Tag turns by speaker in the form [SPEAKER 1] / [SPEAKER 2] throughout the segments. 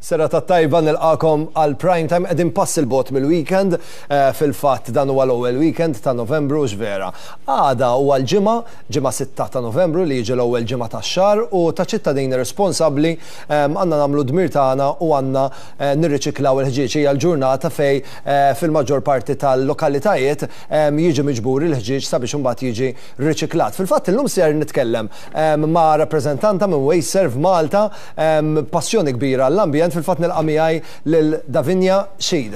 [SPEAKER 1] Serata tajba nilqakom għal prime time qegħdin pass il-bot mill-weekend, eh, fil-fatt dan huwa l-ewwel weekend ta' Novembru x'vera. Għada huwa l-ġimgħa, ġimgħa 6 ta' Novembru li jiġi l-ewwel ġimgħa tax-xahar u ta' ċittadini responsabbli eh, għandna nagħmlu dmir tagħna u għandna eh, nirriċiklaw il-ħġieġ hija l-ġurnata fej fil-maġġor parti tal-lokalitajiet jiġi miġbur il-ħġieġ sabiex imbagħad jiġi riċiklat. Fil-fatt illum ser nitkellem ma' rappreżentanta minn WasteServ Malta Passjoni kbira għall-ambjent, fil-fatt nilqa' miegħi lil Davinia Sheed.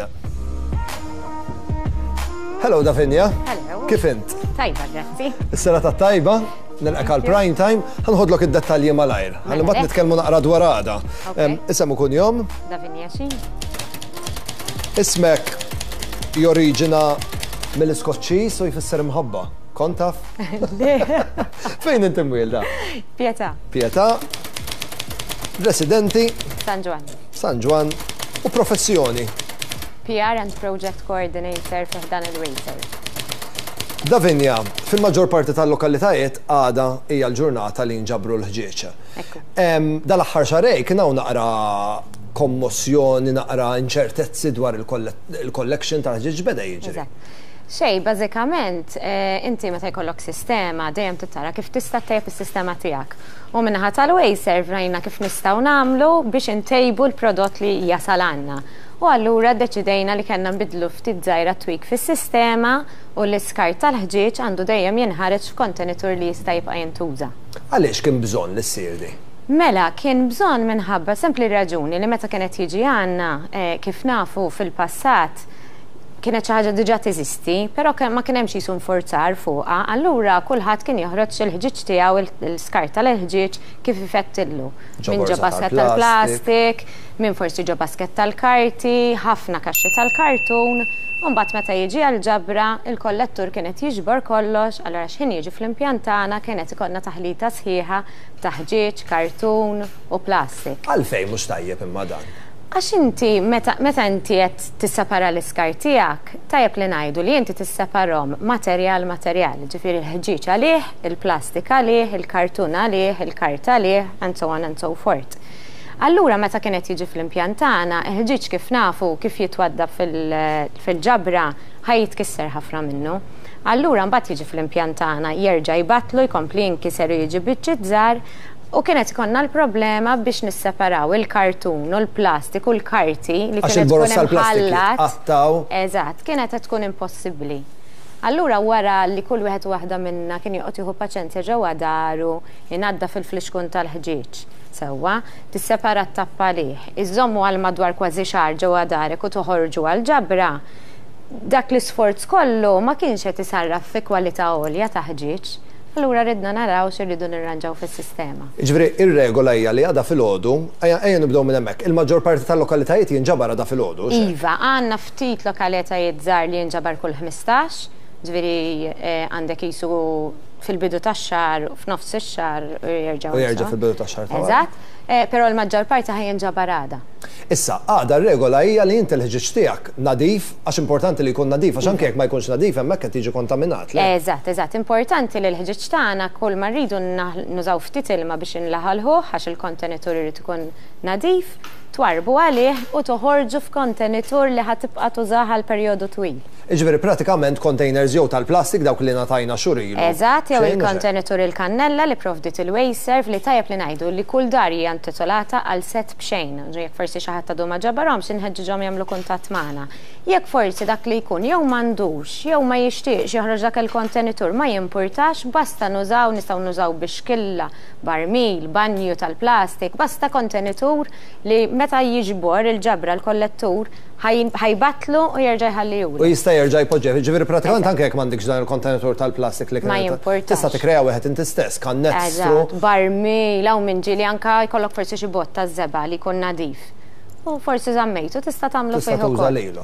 [SPEAKER 1] Hello Davinia.
[SPEAKER 2] Hello.
[SPEAKER 1] Kif int?
[SPEAKER 2] Tajba, grazzi.
[SPEAKER 1] Is-serata tajba, nilqek għal prime time, ħanħodlok id-dettalji malajr. Ħalli mbagħad nitkellmu naqra dwar għada. Isem u kunjom?
[SPEAKER 2] Davinia Sheed.
[SPEAKER 1] Ismek joriġina mill-Iskoċċiż u jfisser imħabba. Kont taf? Fejn inti mwielda?
[SPEAKER 2] Pietà.
[SPEAKER 1] Pietà. Residenti.
[SPEAKER 2] San Ġwann.
[SPEAKER 1] San Ġwann. U professjoni.
[SPEAKER 2] PR and Project Coordinator fi ħdan il-Waiter.
[SPEAKER 1] Davinia, fil-maġġor parti tal-lokalitajiet għada hija l-ġurnata li nġabru l-ħġieġ. Dal-aħħar xarej kien hawn naqra kommossjoni, naqra inċertezzi dwar il-collection tal-ħġieġ beda jiġri.
[SPEAKER 2] Xejn, bażikament, inti meta jkollok sistema dejjem trid tara kif tista' ttejjeb is-sistema tiegħek. U min-naħa tal-Wasteserv rajna kif nistgħu nagħmlu biex intejbu l-prodott li jasal għandna. U allura ddeċidejna li kellna nbiddlu ftit żgħira tweak fis-sistema u l-iskart tal-ħġieġ għandu dejjem jinħareġ f'kontenitur li jista' jibqa' jintuża.
[SPEAKER 1] Għaliex kien bżonn li ssir di?
[SPEAKER 2] Mela, kien bżonn minħabba sempli raġuni li meta kien qed jiġi għandna, kif nafu fil-passat, kienet xi ħaġa diġà teżisti, però ma kien hemmx qisu nfurzar fuqha, allura kulħadd kien joħroġ il-ħġieġ tiegħu, l-iskart tal-ħġieġ kif ifettillu. Min ġo basket tal-plastik, min forsi ġo basket tal-karti, ħafna kaxxi tal-kartun, u mbagħad meta jiġi għall-ġabra, il-kollettur kien qed jiġbor kollox, allura x'ħin jiġi fl-impjant tagħna kien qed ikollna taħlita sħiħa ta' ħġieġ, kartun u plastik.
[SPEAKER 1] Għalfejn mhux tajjeb imma dan?
[SPEAKER 2] Għax inti meta meta inti qed tissepara l-iskart tiegħek, tajjeb li ngħidu li inti tisseparhom materjal materjal, jiġifieri l-ħġieġ għalih, il-plastik għalih, il-kartun għalih, il-karta għalih, and so on and so forth. Allura meta kien qed jiġi fl-impjant tagħna, il-ħġieġ kif nafu kif jitwaddab fil-ġabra ħa jitkisser ħafna minnu. Allura mbagħad jiġi fl-impjant tagħna, jerġa' jbattlu, jkompli jinkiser u jiġi biċċiet żgħar, U kienet ikollna l-problema biex nisseparaw il-kartun u l-plastik u l-karti li kienet tkun
[SPEAKER 1] imħallat.
[SPEAKER 2] Eżatt, kienet qed tkun impossibbli. Allura wara li kull wieħed u waħda minna kien joqgħod jieħu paċenzja ġewwa daru, inaddaf il-flixkun tal-ħġieġ, sewwa, tissepara t-tappa għalih, iżżommu għal madwar kważi xahar ġewwa darek u toħorġu għall-ġabra, dak l-isforz kollu ma kienx qed isarraf fi kwalità għolja ta' ħġieġ. Allura ridna naraw x'irridu nirranġaw fis-sistema.
[SPEAKER 1] Jiġifieri ir-regola hija li għada filgħodu, ejja ejja nibdew minn hemmhekk, il-maġġor parti tal-lokalitajiet jinġabar għada filgħodu, hux hekk?
[SPEAKER 2] Iva, għandna ftit lokalitajiet żgħar li jinġabar kull 15, jiġifieri għandek qisu fil-bidu tax-xahar, f'nofs ix-xahar u jerġgħu.
[SPEAKER 1] U jerġa' fil-bidu tax-xahar ta' wara.
[SPEAKER 2] Eżatt, però l-maġġor parti ħa jinġabar għada.
[SPEAKER 1] Issa, għada r-regola hija li inti l-ħġieġ tiegħek nadif, għax importanti li jkun nadif, għax anke jekk ma jkunx nadif hemmhekk qed jiġi kontaminat, le?
[SPEAKER 2] Eżatt, eżatt. Importanti li l-ħġieġ tagħna kull ma rridu nużaw ftit ilma biex inlaħalħuh għax il-kontenitur irid ikun nadif, twarrbu għalih u toħorġu f'kontenitur li ħa tibqa' tużah għal perjodu twil.
[SPEAKER 1] Jiġifieri pratikament containers jew tal-plastik dawk li ngħatajna xhur ilu.
[SPEAKER 2] Eżatt, jew il-kontenitur il-kannella li pprovdiet il-Wasteserv li tajjeb li ngħidu li kull dar hija intitolata għal sett b'xejn. Jekk forsi xi ħadd għadu ma ġabarhomx inħeġġiġhom jagħmlu kuntatt magħna. Jekk forsi dak li jkun jew m'għandux jew ma jixtieqx joħroġ dak il-kontenitur ma jimpurtax basta nużaw, nistgħu nużaw bixkilla, barmil, banju tal-plastik, basta kontenitur li meta jiġbor il-ġabra l-kollettur ħa jbattlu u jerġa' jħallihulek.
[SPEAKER 1] U jista' jerġa' jpoġġih. Jiġifieri pratikament anke jekk m'għandikx dan il-kontenitur tal-plastik li
[SPEAKER 2] kien.
[SPEAKER 1] Tista' tikkrea wieħed inti stess, kannestru.
[SPEAKER 2] Eżatt, barmil, hawn min ġieli anke jkollok forsi xi bott taż-żebgħa li jkun nadif. U forsi żammejtu, tista' tagħmlu fih ukoll.
[SPEAKER 1] Tista' tuża lilu.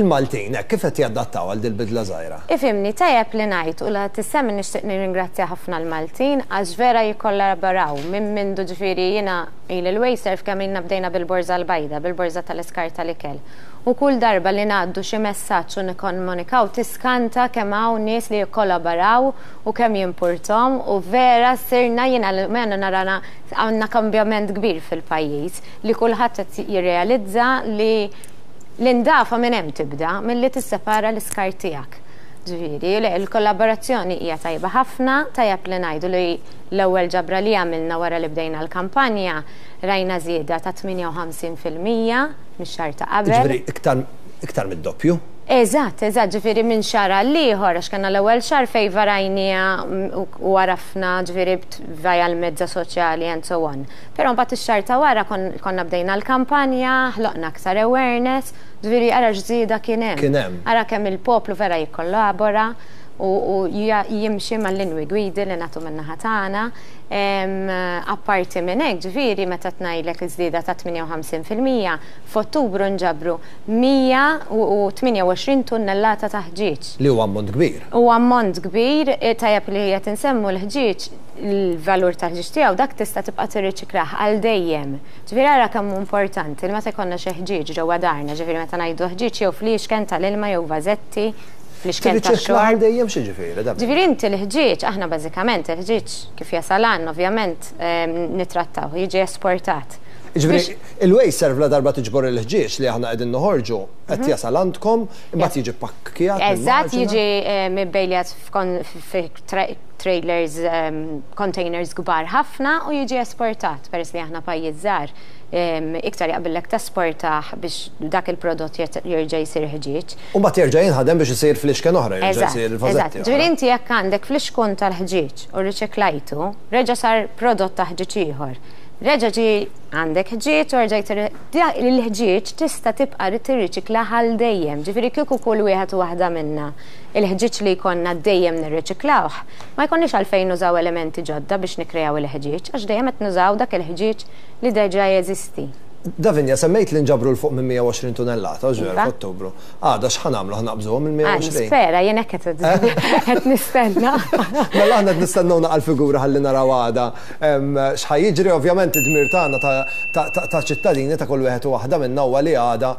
[SPEAKER 1] Il-Maltin hekk kif qed jadattaw għal dil-bidla żgħira?
[SPEAKER 2] Ifhimni, tajjeb li ngħid u la tissemmi nixtieq nirringrazzja ħafna l-Maltin għax vera jikkollaboraw minn mindu ġifieri jiena. Ili l-WasteServ kemm ilna bdejna bil-borża l-bajda, bil-borża tal-iskart tal-ikel. U kull darba li ngħaddu xi messaġġ u nikkomunikaw tiskanta kemm hawn nies li jikkolaboraw u kemm jimpurthom u vera sirna jien almenu nara għandna kambjament kbir fil-pajjiż li kulħadd qed jirrealizza li l-indafa minn hemm tibda, milli tissepara l-iskart tiegħek. Ġifieri, le, il-kollaborazzjoni hija tajba ħafna, tajjeb li ngħidu li l-ewwel ġabra li għamilna wara li bdejna l-kampanja rajna żieda ta' 58% mix-xahar ta' qabel.
[SPEAKER 1] Ġifieri iktar iktar mid-doppju?
[SPEAKER 2] Eżatt, eżatt, ġifieri minn xahar għal ieħor għax kellna l-ewwel xahar fejn varajniha u għarafna ġifieri via l-mezza soċjali and so on. Però mbagħad ix-xahar ta' wara konna bdejna l-kampanja, ħloqna aktar awareness, ġifieri ara x'żieda kien hemm.
[SPEAKER 1] Kien hemm.
[SPEAKER 2] Ara kemm il-poplu vera jikkollabora u jimxi mal-linwi gwidi li nagħtu min-naħa tagħna. Apparti minn hekk, ġifieri meta tngħidlek iż-żieda ta' 58%, f'Ottubru nġabru 128 tunnellata ta' ħġieġ.
[SPEAKER 1] Li huwa ammont kbir.
[SPEAKER 2] Huwa ammont kbir, tajjeb li qed insemmu l-ħġieġ, il-valur tal-ħġieġ tiegħu dak tista' tibqa' tirriċikrah għal dejjem. Ġifieri ara kemm hu importanti li meta jkollna xi ħġieġ ġewwa darna, ġifieri meta ngħidu ħġieġ jew fliexken tal-ilma jew vażetti, fliexken tax-xorb.
[SPEAKER 1] Tirriċiklah għal dejjem x'jiġifieri dan?
[SPEAKER 2] Ġifieri inti l-ħġieġ, aħna bażikament il-ħġieġ kif jasal għandna ovvjament nittrattawh, jiġi esportat.
[SPEAKER 1] Jiġifieri il-WasteServ ladarba tiġbor il-ħġieġ li aħna qegħdin noħorġu qed jasal għandkom, imbagħad jiġi ppakkjat.
[SPEAKER 2] Eżatt, jiġi mibbejljat fi trailers, containers kbar ħafna u jiġi esportat peress li aħna pajjiż żgħar iktar jaqbillek tesportah biex dak il-prodott jerġa' jsir ħġieġ.
[SPEAKER 1] U mbagħad jerġa' jinħadem biex isir flixken oħra, jerġa' jsir vażetti.
[SPEAKER 2] Ġifieri inti jekk għandek flixkun tal-ħġieġ u rriċiklajtu, reġa' sar prodott ta' ħġieġ ieħor. Reġa' ġie għandek ħġieġ u rġajt il-ħġieġ tista' tibqa' tirriċiklah għal dejjem. Ġifieri kieku kull wieħed u waħda minna il-ħġieġ li jkollna dejjem nirriċiklawh, ma jkollniex għalfejn nużaw elementi ġodda biex nikkreaw il-ħġieġ, għax dejjem qed nużaw dak il-ħġieġ li deġa jeżisti.
[SPEAKER 1] Davinia, semmejt li nġabru 'l fuq minn 120 tunellata, hux veru, f'Ottubru. Għada x'ħa nagħmlu, ħa naqbżuhom il-120?
[SPEAKER 2] Nispera, jien hekk qed nistenna.
[SPEAKER 1] Mela aħna qed nistennew naqa' l-figura ħalli naraw għada x'ħa jiġri. Ovvjament id-dmir tagħna ta' ċittadini ta' kull wieħed u waħda minna huwa li għada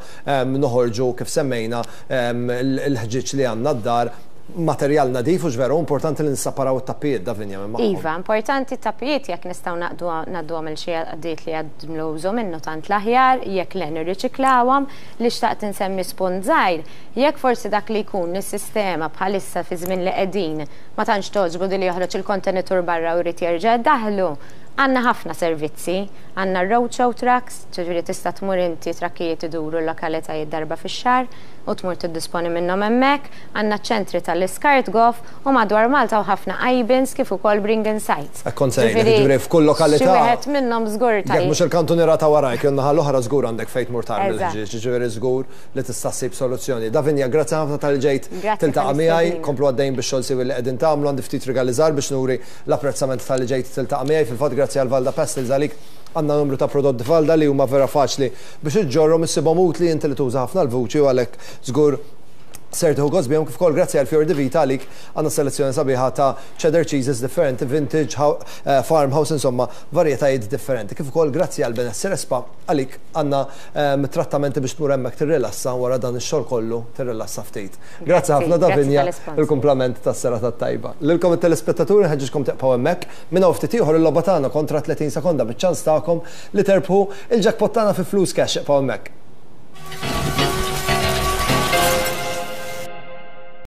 [SPEAKER 1] noħorġu kif semmejna l-ħġieġ li għandna d-dar, materjal nadif, hux veru? Importanti li nissaparaw it-tappijiet, Davinia, minn magħhom.
[SPEAKER 2] Iva, importanti t-tappijiet jekk nistgħu ngħadduhom lil xi għaqdiet li jagħmlu użu minnu tant l-aħjar, jekk le nirriċiklawhom. Li xtaqt insemmi spunt żgħir, jekk forsi dak li jkun is-sistema bħalissa fiż-żmien li qegħdin ma tantx togħġbu din li joħroġ il-kontenitur barra u jrid jerġa' jdaħħlu, għandna ħafna servizzi, għandna r-roadshow trucks, Ġifieri tista' tmur inti trakkijiet iduru l-lokalitajiet darba fix-xahar u tmur tiddisponi minnhom hemmhekk. Għandna ċ-ċentri tal-iskart goff u madwar Malta hawn ħafna I-bins kif ukoll bring-in sites.
[SPEAKER 1] Hekk kont se ngħidlek, jiġifieri f'kull lokalità.
[SPEAKER 2] Xi wieħed minnhom żgur
[SPEAKER 1] tajjeb. Jekk mhux il-kantuniera ta' warajk jew in-naħa l-oħra żgur għandek fejn tmur tarmi l-ħġieġ, jiġifieri żgur li tista' ssib soluzzjoni. Davinia, grazzi ħafna talli ġejt tiltaqa' miegħi, komplu għaddejjin bix-xogħol siewi li qegħdin tagħmlu, għandi ftit rigali żgħar biex nuri l-apprezzament talli ġejt tiltaqa' miegħi. Fil-fatt grazzi għal Valda Pastels għalik Għandna numru ta' prodotti Valda li huma vera faċli biex iġġorrhom, issibhom utli inti li tuża ħafna l-vuċi u għalhekk żgur ser tieħu gost bihom kif ukoll grazzi għal Fior di Vita għalik għandna selezzjoni sabiħa ta' cheddar cheeses differenti, vintage, eh, farmhouse, insomma varjetajiet differenti. Kif ukoll grazzi għal Benessere Spa għalik għandna ehm, trattamenti biex tmur hemmhekk tirrilassa wara dan ix-xogħol kollu tirrilassa ftit. Grazzi ħafna Davinja il-kumplament tas-serata tajba. Lilkom it-telespettaturi nħeġġiġkom tibqgħu hemmhekk Minn hawn ftit ieħor il-logħba tagħna kontra 30 sekonda biċ-ċans tagħkom li terbħu il-jackpot tagħna fi flus cash. Ibqgħu hemmhekk.